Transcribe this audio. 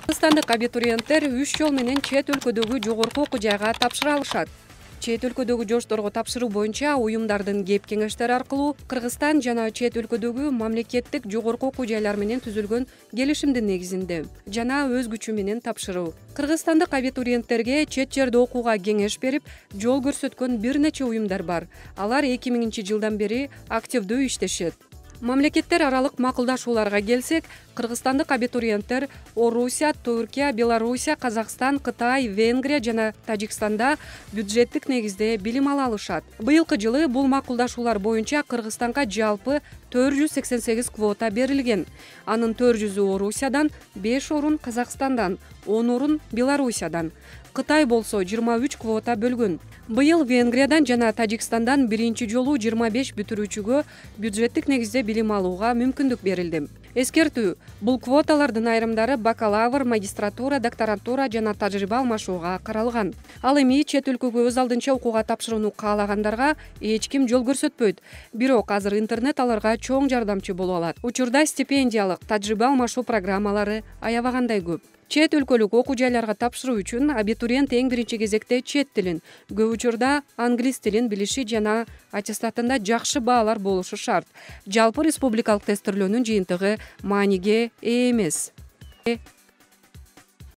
Кыргызстандык абитуриенттер 3 жол менен чет өлкөдөгү жогорку окуу жайга тапшыра алышат. Чет өлкөдөгү жошторго тапшыруу боюнча уюмдардын кеп кеңештери аркылуу Кыргызстан жана чет өлкөдөгү мамлекеттик жогорку окуу жайлар менен түзүлгөн келишимдин негизинде жана өз күчү менен тапшыруу. Кыргызстандык абитуриенттерге чет жерде окууга кеңеш берип, жол көрсөткөн бир нече уюмдар бар. Алар 2000-жылдан бери активдүү иштешет. Мамлекеттер аралык макулдашууларга келсек, кыргызстандык абитуриенттер Орусия, Түркия, Белоруссия, Казакстан, Кытай, Венгрия жана Тажикстанда бюджеттик негизде билим ала алышат. Быйылкы жылы бул макулдашуулар боюнча Кыргызстанга жалпы 488 квота берилген. Анын 400-ü Орусиядан, 5 орун Казакстандан, 10 орун Белоруссиядан. Кытай болсо 23 квота бөлгөн. Быйыл Венгриядан жана Тажикстандан биринчи жолу 25 бүтүрүүчүгө бюджеттик негизде билим алууга мүмкүндүк берилди. Эскертүү: бул квоталардын айрымдары бакалавр, магистратура, докторантура жана тажрыйба алмашууга каралган. Ал эми чет өлкөгө өз алдынча окууга тапшырууну каалагандарга эч ким жол көрсөтпөйт. Бирок азыр интернет аларга чоң жардамчы боло алат. Учурда стипендиялык, тажрыйба алмашуу программалары аябагандай көп. Чет өлкөлүк окуу жайларга тапшыруу үчүн абитуриент эң биринчи кезекте чет тилин, көп учурда англис тилин билиши жана аттестатында жакшы баалар болушу шарт. Жалпы республикалык тестирлөөнүн жыйынтыгы мааниге ээ эмес.